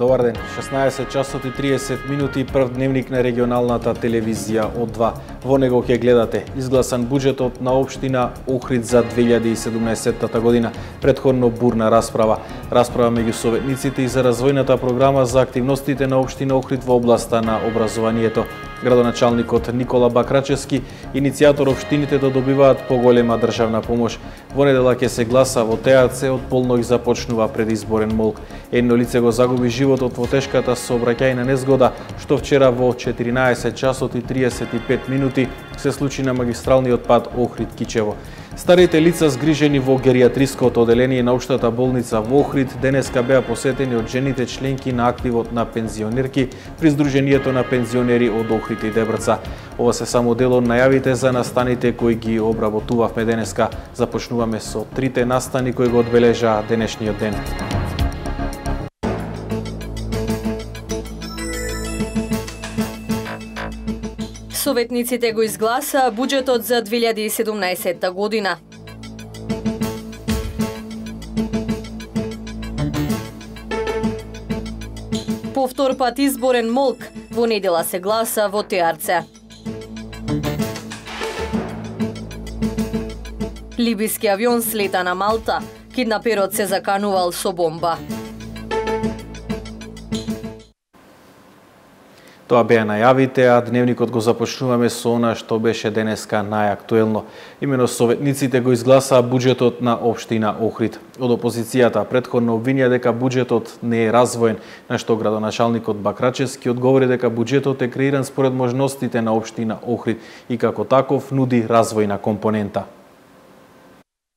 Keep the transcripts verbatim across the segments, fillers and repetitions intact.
Добар ден, шеснаесет часот и триесет минути, прв дневник на регионалната телевизија од два. Во него ќе гледате изгласан буџетот на општина Охрид за две илјади и седумнаесетта година, претходно бурна расправа. Расправа меѓу советниците и за развојната програма за активностите на општина Охрид во областа на образованието. Градоначалникот Никола Бакрачевски иницијатор општините да добиваат поголема државна помош. Во недела ќе се гласа во ТАЦ, од полнок започнува предизборен молк. Едно лице го загуби животот во тешката сообраќајна незгода, што вчера во четиринаесет часот и триесет и пет минути се случи на магистралниот пат Охрид-Кичево. Старите лица згрижени во гериатриското оделение на општата болница во Охрид денеска беа посетени од жените членки на активот на пензионерки при Сдруженијето на пензионери од Охрид и Дебрца. Ова се само дел од најавите за настаните кои ги обработувавме денеска. Започнуваме со трите настани кои го одбележаа денешниот ден. Советниците го изгласа буџетот за две илјади и седумнаесетта година. Повтор пат изборен молк, во недела се гласа во ТАРЦ. Либиски авион слета на Малта, киднаперот се заканувал со бомба. Тоа беа најавите, а дневникот го започнуваме со она што беше денеска најактуелно. Имено советниците го изгласаа буџетот на општина Охрид. Од опозицијата претходно обвинија дека буџетот не е развоен, на што градоначалникот Бакрачевски одговори дека буџетот е креиран според можностите на општина Охрид и како таков нуди развојна компонента.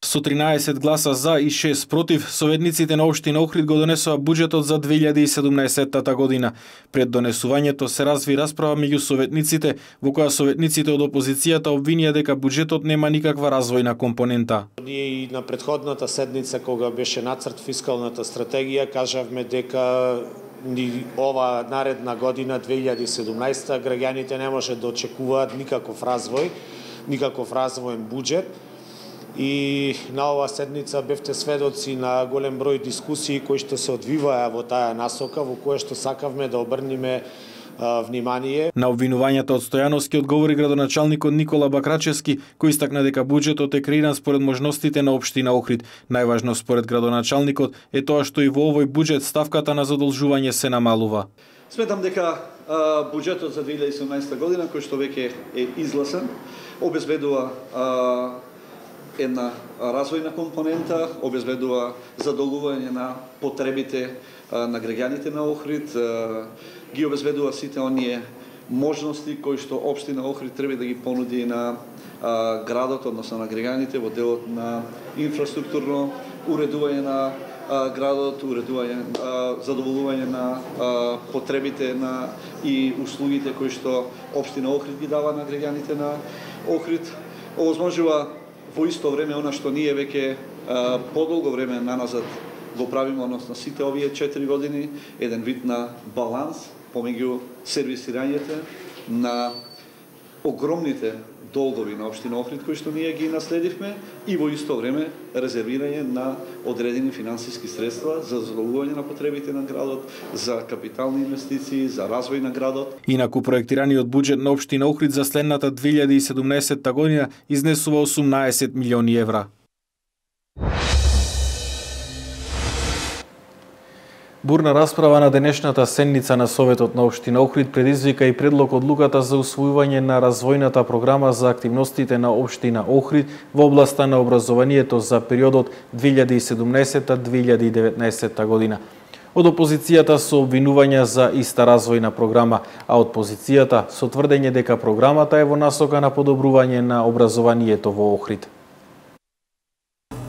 Со тринаесет гласа за и шест против, советниците на општина Охрид го донесоа буџетот за две илјади и седумнаесетта година. Пред донесувањето се разви расправа меѓу советниците, во која советниците од опозицијата обвинија дека буџетот нема никаква развојна компонента. Ние и на претходната седница, кога беше нацрт фискалната стратегија, кажавме дека ни ова наредна година, две илјади и седумнаесетта, граѓаните не може да очекуваат никаков развој, никаков развоен буџет. И на оваа седница бевте сведоци на голем број дискусии кои што се одвиваа во таа насока, во кое што сакавме да обрнеме а, внимание. На обвинувањата од Стојановски одговори градоначалникот Никола Бакрачевски, кој истакна дека буџетот е креиран според можностите на општина Охрид. Најважно според градоначалникот е тоа што и во овој буџет ставката на задолжување се намалува. Сметам дека а, буџетот за две илјади и седумнаесетта година, кој што веќе е изгласан, обезбедува а, една развојна компонента, обезбедува задоволување на потребите на граѓаните на Охрид, ги обезбедува сите оние можности кои што општина Охрид треба да ги понуди на градот, односно на граѓаните во делот на инфраструктурно уредување на градот, уредување, задоволување на потребите на и услугите кои што општина Охрид ги дава на граѓаните на Охрид. Овозможува во исто време она што ние веќе подолго време наназад го правиме, односно сите овие четири години, еден вид на баланс помеѓу сервисирањето на огромните долгови на општина Охрид кои што ние ги наследивме и во исто време резервирање на одредени финансиски средства за задоволување на потребите на градот, за капитални инвестиции, за развој на градот. Инаку проектираниот буџет на општина Охрид за следната две илјади и седумнаесетта година изнесува осумнаесет милиони евра. Бурна расправа на денешната седница на Советот на општина Охрид предизвика и предлог одлуката за усвојување на развојната програма за активностите на општина Охрид во областа на образованието за периодот две илјади и седумнаесетта до две илјади и деветнаесетта година. Од опозицијата со обвинувања за иста развојна програма, а од позицијата со тврдење дека програмата е во насока на подобрување на образованието во Охрид.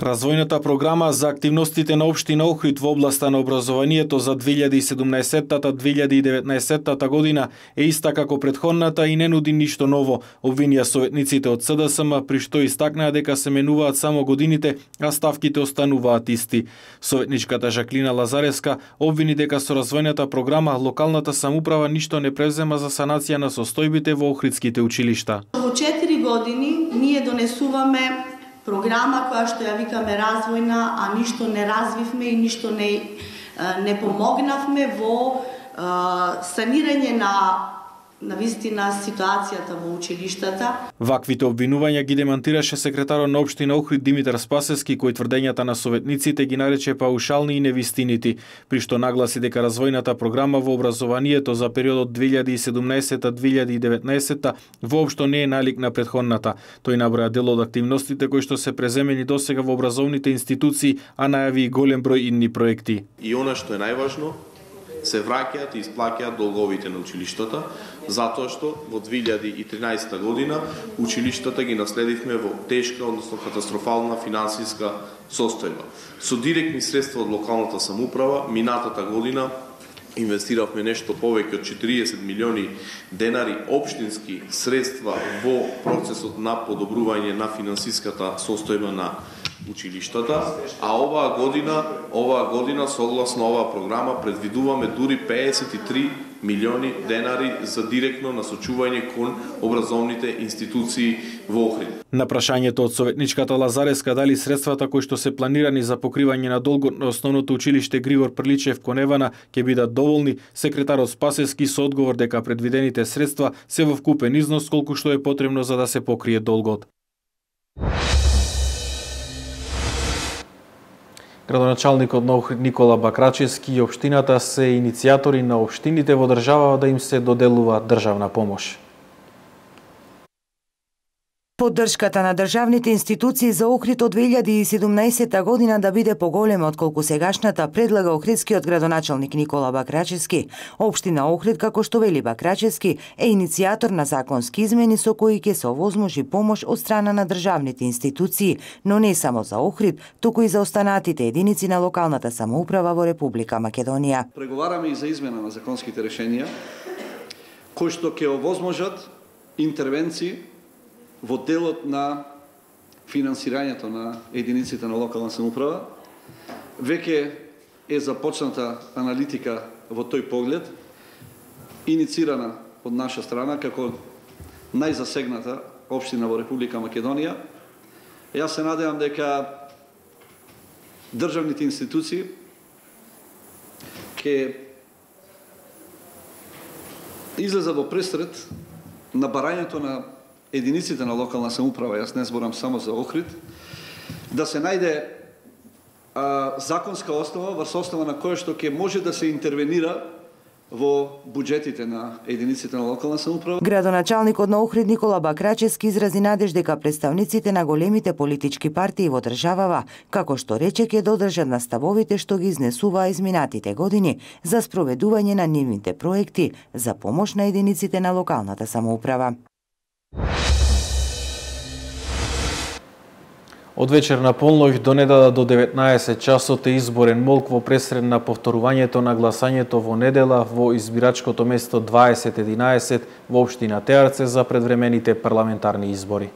Развојната програма за активностите на општина Охрид во областа на образованието за две илјади и седумнаесетта до две илјади и деветнаесетта година е иста како претходната и не нуди ништо ново, обвинија советниците од СДСМ, при што истакнаа дека се менуваат само годините, а ставките остануваат исти. Советничката Жаклина Лазареска обвини дека со развојната програма локалната самоуправа ништо не превзема за санација на состојбите во охридските училишта. Во четири години ние донесуваме програма која што ја викаме развојна, а ништо не развивме и ништо не не помогнавме во санирање на на вистина ситуацијата во училиштата. Ваквите обвинувања ги демантираше секретарот на општина Охрид Димитар Спасевски, кој тврдењата на советниците ги нарече паушални и невистинити, при што нагласи дека развојната програма во образованието за периодот две илјади и седумнаесета - две илјади и деветнаесета воопшто не е налик на претходната. Тој наброја дел од активностите кои што се преземени досега во образовните институции, а најави и голем број идни проекти. И она што е најважно, се враќаат и исплаќаат долговите на училиштата, затоа што во две илјади и тринаесета година училиштата ги наследивме во тешка, односно катастрофална финансиска состојба. Со директни средства од локалната самоуправа, минатата година инвестиравме нешто повеќе од четириесет милиони денари општински средства во процесот на подобрување на финансиската состојба на училиштата, а оваа година, оваа година согласно оваа програма предвидуваме дури пеесет и три милиони денари за директно насочување кон образовните институции во Охрид. На прашањето од советничката Лазареска дали средствата кои што се планирани за покривање на долгот на основното училиште Григор Приличев кон Евана ќе бидат доволни, секретарот Спасевски со одговор дека предвидените средства се во вкупен износ колку што е потребно за да се покрие долгот. Градоначалникот на Охрид Никола Бакрачевски и општината се иницијатори на општините во држава да им се доделува државна помош. Поддршката на државните институции за Охрид од две илјади и седумнаесета година да биде поголема отколку сегашната, предлага охридскиот градоначалник Никола Бакрачевски. Општина Охрид, како што вели Бакрачевски, е иницијатор на законски измени со кои ќе се овозможи помош од страна на државните институции, но не само за Охрид, туку и за останатите единици на локалната самоуправа во Република Македонија. Преговараме и за измена на законските решенија кои што ќе овозможат интервенции во делот на финансирањето на единиците на локална самоуправа. Веќе е започната аналитика во тој поглед, иницирана од наша страна како најзасегната општина во Република Македонија. Јас се надевам дека државните институции ќе излезат во пресред на барањето на единиците на локална самоуправа, јас не зборам само за Охрид, да се најде а, законска основа, врз основа на која што ќе може да се интервенира во буџетите на единиците на локална самоуправа. Градоначалникот на Охрид Никола Бакрачевски изрази надеж дека представниците на големите политички партии во државава, како што рече, ќе додржат на ставовите што ги изнесуваа изминатите години за спроведување на нивните проекти за помош на единиците на локалната самоуправа. Од вечер на полноќ до недела до деветнаесет часот е изборен молк во пресред на повторувањето на гласањето во недела во избирачкото место дваесет единаесет во општина Теарце за предвремените парламентарни избори.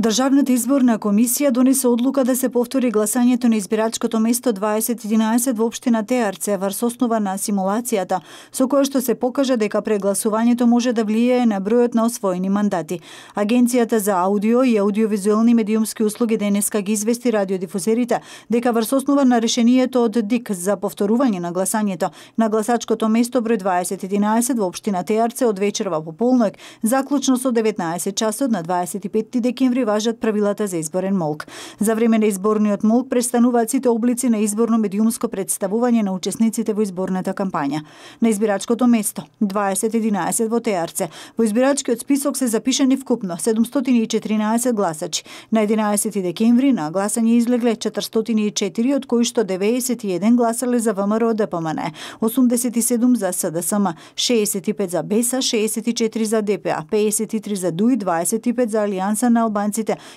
Државната изборна комисија донесе одлука да се повтори гласањето на избирачкото место дваесет единаесет во општина Теарце врз основа на симулацијата, со која што се покажа дека прегласувањето може да влијае на бројот на освоени мандати. Агенцијата за аудио и аудиовизуелни медиумски услуги денеска ги извести радиодифузерите дека врз основа на решението од ДИК за повторување на гласањето на гласачкото место број дваесет единаесет во општина Теарце од вечерва по полноќ, заклучно со деветнаесет часот на дваесет и петти декември важат правилата за изборен молк. За време на изборниот молк престануваат сите облици на изборно медиумско представување на учесниците во изборната кампања. На избирачкото место дваесет единаесет во Теарце во избирачкиот список се запишани вкупно седумстотини и четиринаесет гласачи. На единаесети декември на гласање излегле четиристотини и четири, од кои што деветдесет и еден гласале за ВМРО ДПМН, осумдесет и седум за СДСМ, шеесет и пет за БЕСА, шеесет и четири за ДПА, пеесет и три за ДУИ, дваесет и пет за Алијанса на албанците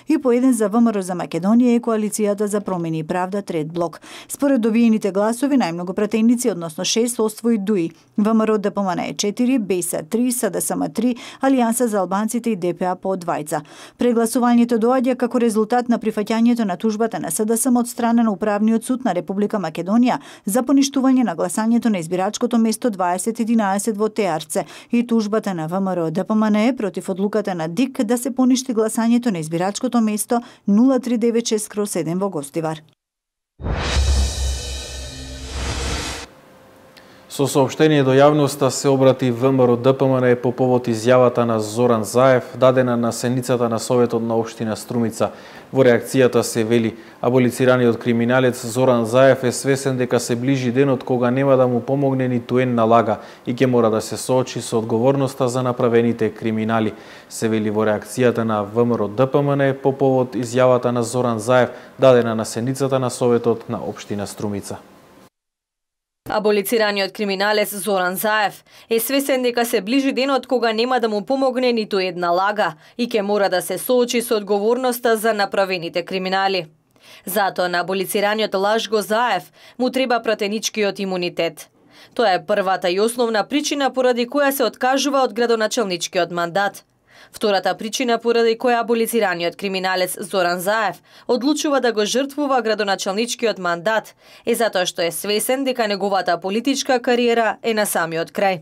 и по еден за ВМРО за Македонија и коалицијата за промени и правда Трет блок. Според добиените гласови најмногу пратеници, односно шест, освои ДУИ, ВМРО ДПМН е четири, БЕСА три, СДСМ три, Алијанса за албанците и ДПА по двајца. Прегласувањето доаѓа како резултат на прифаќањето на тужбата на СДСМ од страна на Управниот суд на Република Македонија за поништување на гласањето на избирачкото место дваесет единаесет во Теарце и тужбата на ВМРО ДПМН против одлуката на ДИК да се поништи гласањето на избирачкото место нула три девет шест седем во Гостивар. Со соопштение до јавноста се обрати ВМРО Д П М Н по повод изјавата на Зоран Заев, дадена на седницата на Советот на општина Струмица. Во реакцијата се вели, аболицираниот криминалец Зоран Заев е свесен дека се ближи денот кога нема да му помогне ниту една лага и ќе мора да се соочи со одговорноста за направените криминали. Се вели во реакцијата на ВМРО Д П М Н по повод изјавата на Зоран Заев, дадена на седницата на Советот на општина Струмица. Аболицираниот криминалец Зоран Заев е свесен дека се ближи денот кога нема да му помогне ниту една лага и ќе мора да се соочи со одговорноста за направените криминали. Затоа на аболицираниот Лажго Заев му треба пратеничкиот имунитет. Тоа е првата и основна причина поради која се откажува од градоначалничкиот мандат. Втората причина поради која аболицираниот криминалец Зоран Заев одлучува да го жртвува градоначалничкиот мандат е затоа што е свесен дека неговата политичка кариера е на самиот крај.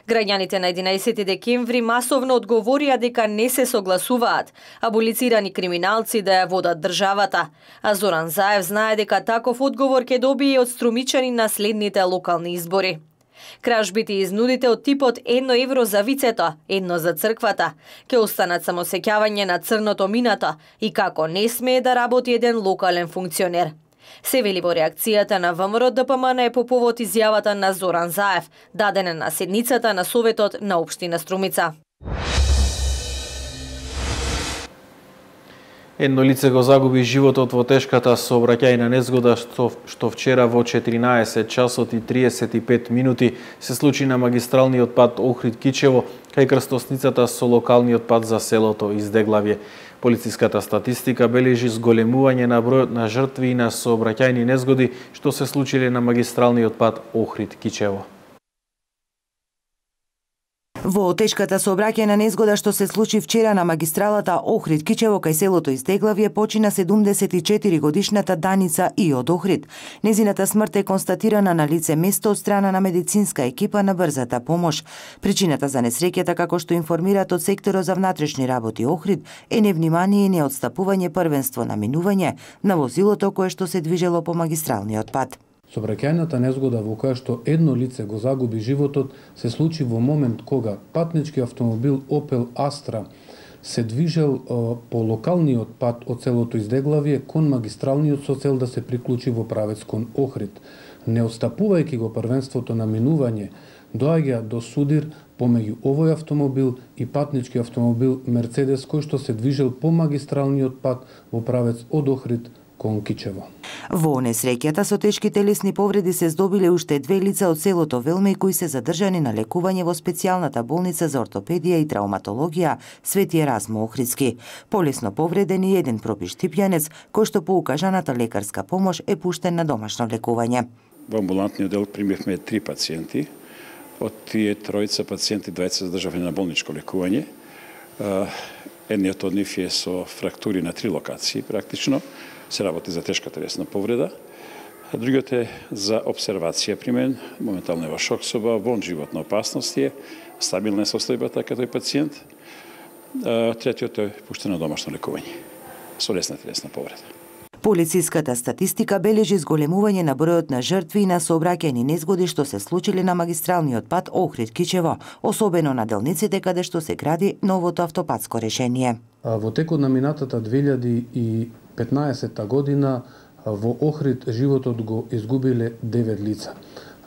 Граѓаните на единаесети декември масовно одговорија дека не се согласуваат аболицирани криминалци да ја водат државата, а Зоран Заев знае дека таков одговор ќе добие од струмичани на следните локални избори. Кражбите и изнудите од типот едно евро за вицето, едно за црквата, ќе останат само сеќавање на црното минато и како не смее да работи еден локален функционер. Се вели во реакцијата на ВМРО Д П М Н по повод изјавата на Зоран Заев, дадена на седницата на Советот на општина Струмица. Едно лице го загуби животот во тешката сообраќајна незгода што, што вчера во четиринаесет часот и триесет и пет минути се случи на магистралниот пат Охрид-Кичево кај крстосницата со локалниот пат за селото Издеглавје. Полициската статистика бележи зголемување на бројот на жртви и на сообраќајни незгоди што се случиле на магистралниот пат Охрид-Кичево. Во тешката сообраќајна незгода што се случи вчера на магистралата Охрид-Кичево кај селото Издеглавје почина седумдесет и четири годишната Даница И од Охрид. Незината смрт е констатирана на лице место од страна на медицинска екипа на брзата помош. Причината за несреќата, како што информираат од секторот за внатрешни работи Охрид, е невнимание и неотстапување првенство на минување на возилото кое што се движело по магистралниот пат. Сообраќајната незгода во која што едно лице го загуби животот се случи во момент кога патнички автомобил Opel Astra се движел по локалниот пат од селото Издеглавје кон магистралниот со цел да се приклучи во правец кон Охрид. Не отстапувајќи го првенството на минување, доаѓа до судир помеѓу овој автомобил и патнички автомобил Мерцедес кој што се движел по магистралниот пат во правец од Охрид кон Кичево. Во несреќата со тешки телесни повреди се здобиле уште две лица од селото Велмеј кои се задржани на лекување во специјалната болница за ортопедија и травматологија Свети Еразмо Охридски. Полесно повреден и еден пропиш типјанец кој што по укажаната лекарска помош е пуштен на домашно лекување. Во амбулантниот дел примивме три пациенти. Од тие тројца пациенти двајца се задржавани на болничко лекување. Едниот од нив е со фрактури на три локации практично. Се работи за тешка телесна повреда. А другиот е за обсервација при мен, моментално е во шок соба, во животна опасност е, стабилна е состојбата како тој пациент. А третиот е пуштен на домашно лекување со лесна телесна повреда. Полициската статистика бележи зголемување на бројот на жртви и на сообраќајни незгоди што се случиле на магистралниот пат Охрид-Кичево, особено на делниците каде што се гради новото автопатско решение. Во текот на минатата две илјади и петнаесетта година во Охрид животот го изгубиле девет лица.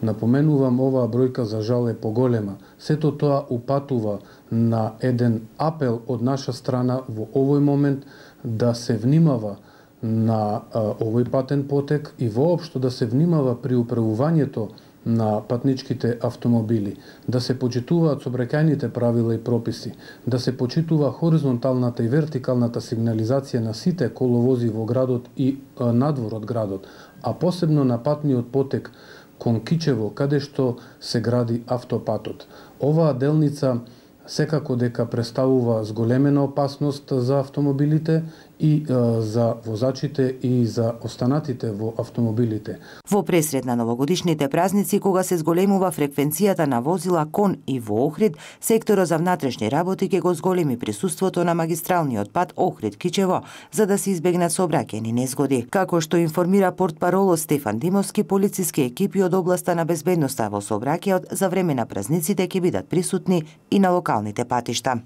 Напоменувам, оваа бројка за жал е поголема. Сето тоа упатува на еден апел од наша страна во овој момент да се внимава на а, овој патен потек и воопшто да се внимава при управувањето на патничките автомобили, да се почитуваат сообраќајните правила и прописи, да се почитува хоризонталната и вертикалната сигнализација на сите коловози во градот и а, надвор од градот, а посебно на патниот потек кон Кичево, каде што се гради автопатот. Оваа делница секако дека представува зголемена опасност за автомобилите и а, за возачите и за останатите во автомобилите. Во пресред на новогодишните празници, кога се зголемува фреквенцијата на возила кон и во Охрид, секторот за внатрешни работи ќе го зголеми присуството на магистралниот пат Охрид-Кичево, за да се избегнат сообраќајни незгоди. Како што информира портпаролот Стефан Димовски, полициски екипи од областа на безбедноста во сообраќајот за време на празниците ќе бидат присутни и на локалните патишта.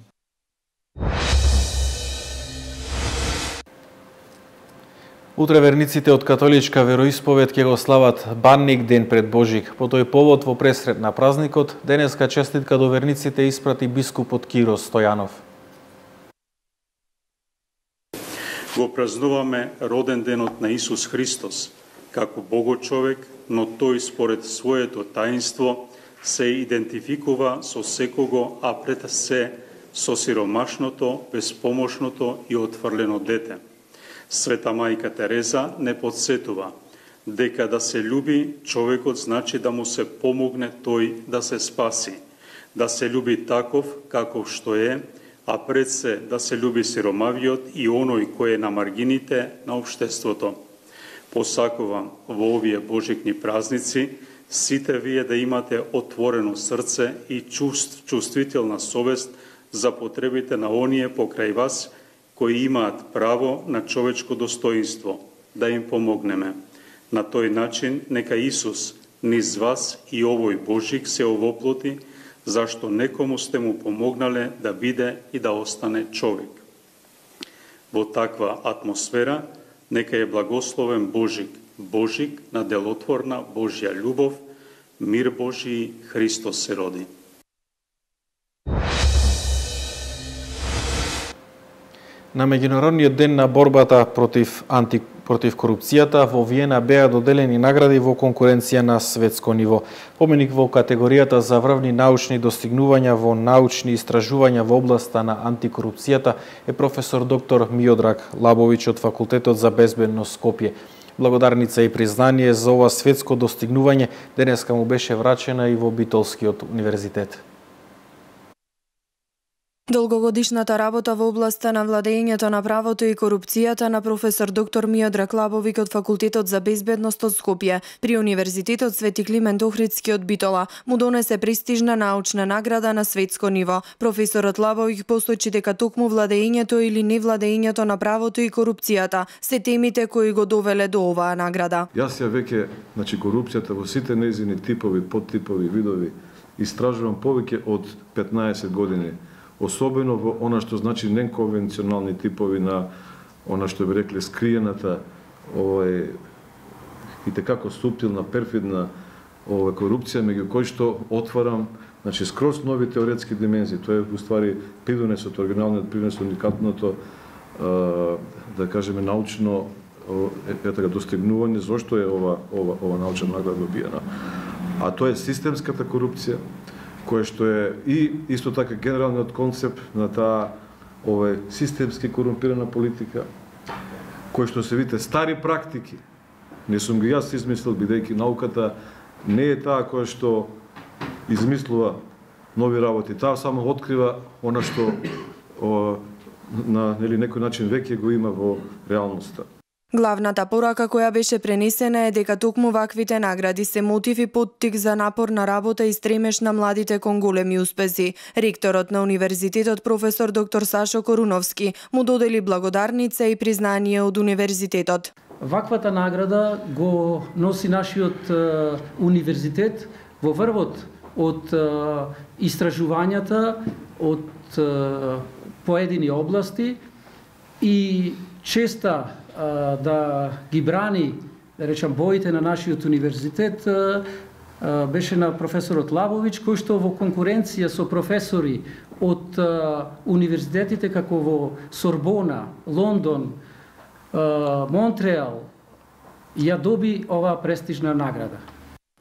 Утре верниците од католичка вероисповед ќе го слават Банник ден пред Божик. По тој повод во пресред на празникот, денеска честитка до верниците испрати бискупот Киро Стојанов. Го празнуваме роден денот на Исус Христос, како Богочовек, но тој според своето таинство се идентификува со секого, а пред се со сиромашното, безпомошното и отфрлено дете. Света мајка Тереза не подсетува дека да се љуби човекот значи да му се помогне тој да се спаси, да се љуби таков каков што е, а пред се да се љуби сиромавиот и оној кој е на маргините на општеството. Посакувам во овие божикни празници сите вие да имате отворено срце и чувств, чувствителна совест за потребите на оние покрај вас кои имаат право на човечко достоинство, да им помогнеме. На тој начин нека Исус низ вас и овој Божик се овоплоти, зашто некому сте му помогнале да биде и да остане човек. Во таква атмосфера нека е благословен Божик, Божик на делотворна Божја љубов, мир Божи, Христос се роди. На меѓународниот ден на борбата против анти против корупцијата во Виена беа доделени награди во конкуренција на светско ниво. Поменик во категоријата за врвни научни достигнувања во научни истражувања во областа на антикорупцијата е професор доктор Миодраг Лабовиќ од Факултетот за безбедност Скопје. Благодарница и признание за ова светско достигнување денеска му беше врачена и во Битолскиот универзитет. Долгогодишната работа во областа на владењето на правото и корупцијата на професор доктор Миодраг Лабовиќ од Факултетот за безбедност од Скопје при Универзитетот Свети Климент Охридски од Битола му донесе престижна научна награда на светско ниво. Професорот Лабовиќ посочи дека токму владењето или невладењето на правото и корупцијата се темите кои го довеле до оваа награда. Јас ја веќе, значи корупцијата во сите нејзини типови, подтипови, видови истражувам повеќе од петнаесет години. Особено во она што значи неконвенционални типови на она што би рекле скриената, овој и tekako суптилна, перфидна овој корупција меѓу кои што отварам, значи скроз нови теоретски димензии. Тоа е уствари придонесот, оригиналниот принос, уникатното, да кажеме научно е така достигнување, зошто е ова ова ова научна награда добиена. А тоа е системската корупција, кој што е и исто така генералниот концепт на таа овој системски корумпирана политика, кој што се вите стари практики. Не сум ги јас измислил, бидејќи науката не е таа која што измислува нови работи. Таа само открива она што о, на нели некој начин веќе го има во реалноста. Главната порака која беше пренесена е дека токму ваквите награди се мотив и поттик за напорна работа и стремеш на младите кон големи успеси. Ректорот на универзитетот професор доктор Сашо Коруновски му додели благодарница и признание од универзитетот. Ваквата награда го носи нашиот е, универзитет во врвот од е, истражувањата од е, поедини области и честа да ги брани, да речам, боите на нашиот универзитет беше на професорот Лабовиќ, кој што во конкуренција со професори од универзитетите како во Сорбона, Лондон, Монтреал, ја доби оваа престижна награда.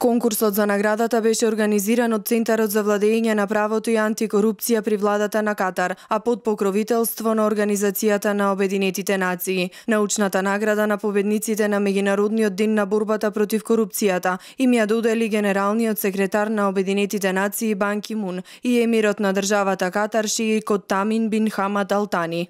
Конкурсот за наградата беше организиран од Центарот за владење на правото и антикорупција при владата на Катар, а под покровителство на Организацијата на Обединетите нации. Научната награда на победниците на Меѓународниот ден на борбата против корупцијата им ја додели генералниот секретар на Обединетите нации Бан Ки Мун и емирот на државата Катар Шејх Тамин бин Хамад Ал Тани.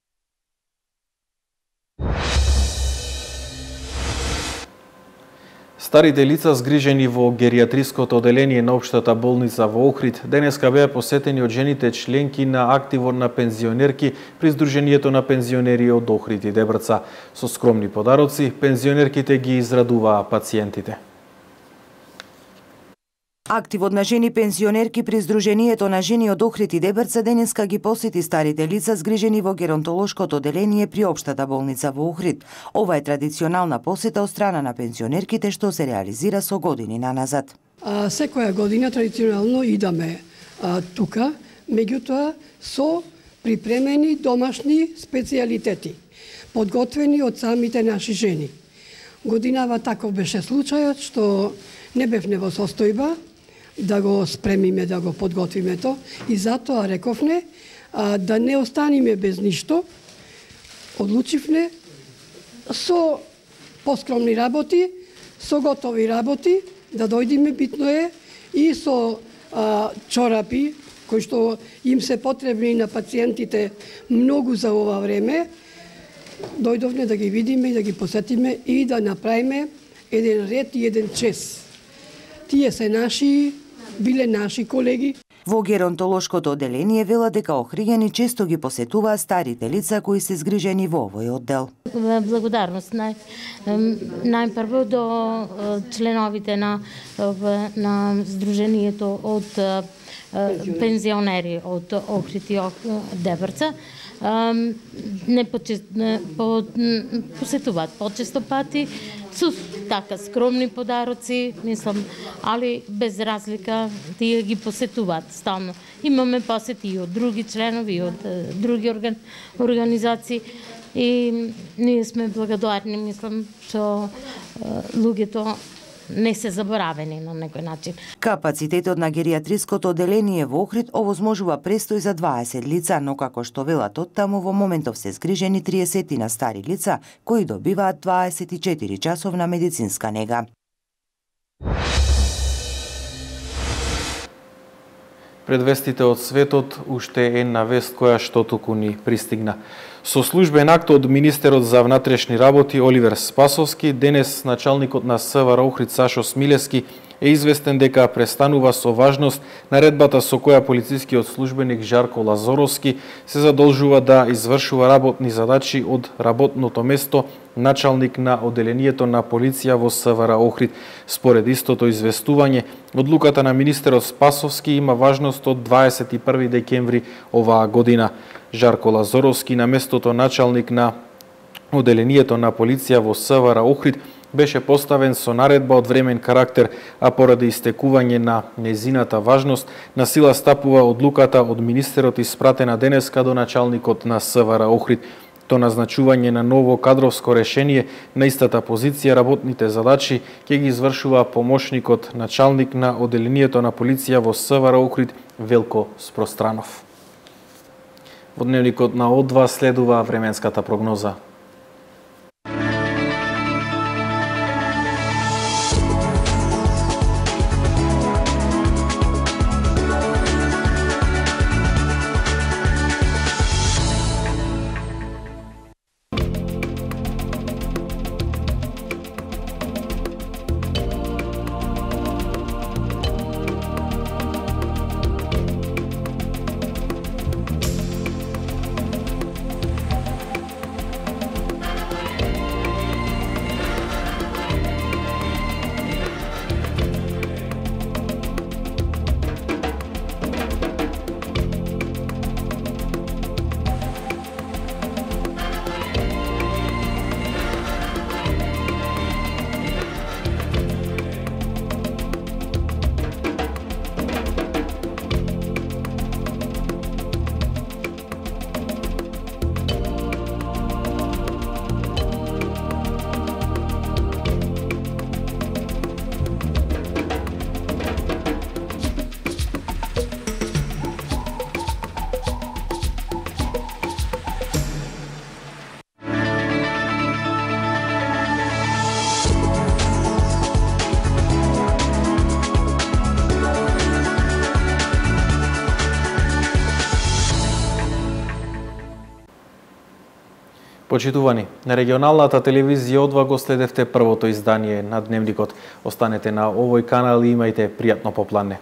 Старите лица згрижени во гериатриското оделение на Општата болница во Охрид денеска беа посетени од жените членки на активот на пензионерки при Сдруженијето на пензионери од Охрид и Дебрца. Со скромни подароци, пензионерките ги израдуваа пациентите. Активот на жени пензионерки при Сдруженијето на жени од Охрид и Дебрца денеска ги посети старите лица згрижени во геронтолошкото оделение при Општата болница во Охрид. Ова е традиционална посета од страна на пензионерките што се реализира со години наназад. А, секоја година традиционално идаме а, тука, меѓутоа со припремени домашни специјалитети, подготвени од самите наши жени. Годинава таков беше случајот што не бевме во состојба да го спремиме, да го подготвиме то и затоа рековне а, да не останиме без ништо. Одлучивме со поскромни работи, со готови работи да дојдеме, битно е и со а, чорапи кои што им се потребни на пациентите многу за ова време. Дојдовме да ги видиме и да ги посетиме и да направиме еден ред и еден чест. Тие се наши, биле наши колеги. Во геронтолошкото оделение вела дека охриѓани често ги посетуваа старите лица кои се згрижени во овој оддел. Благодарност нај, најпрво до членовите на, на Сдруженијето од пензионери од Охрид и Дебрца. Не по, посетуваат почесто пати со така скромни подароци, мислам, али без разлика тие ги посетуваат стално. Имаме посети и од други членови, и од други орган, организации и ние сме благодарни, мислам, што луѓето не се заборавени на некој начин. Капацитетот на гериатриското оделение во Охрид овозможува престој за дваесет лица, но како што велат од таму во моментов се згрижени триесет на стари лица кои добиваат дваесет и четири часовна медицинска нега. Пред вестите од светот уште една вест која што туку ни пристигна. Со службен акт од министерот за внатрешни работи Оливер Спасовски, денес началникот на СВР Охрид Сашо Смилевски е известен дека престанува со важност наредбата со која полицискиот службеник Жарко Лазоровски се задолжува да извршува работни задачи од работното место началник на оделението на полиција во СВР Охрид. Според истото известување, одлуката на министерот Спасовски има важност од дваесет и први декември оваа година. Жарко Лазоровски на местото началник на оделението на полиција во СВР Охрид беше поставен со наредба од времен карактер, а поради истекување на незината важност, на сила стапува одлуката од министерот испратена денеска до началникот на СВР Охрид. То назначување на ново кадровско решение на истата позиција работните задачи ќе ги извршува помошникот началник на оделението на полиција во СВР Охрид Велко Спространов. Во дневникот на О два следува временската прогноза. Почитувани, на регионалната телевизија О два го следевте првото издание на Дневникот. Останете на овој канал и имајте пријатно попладне.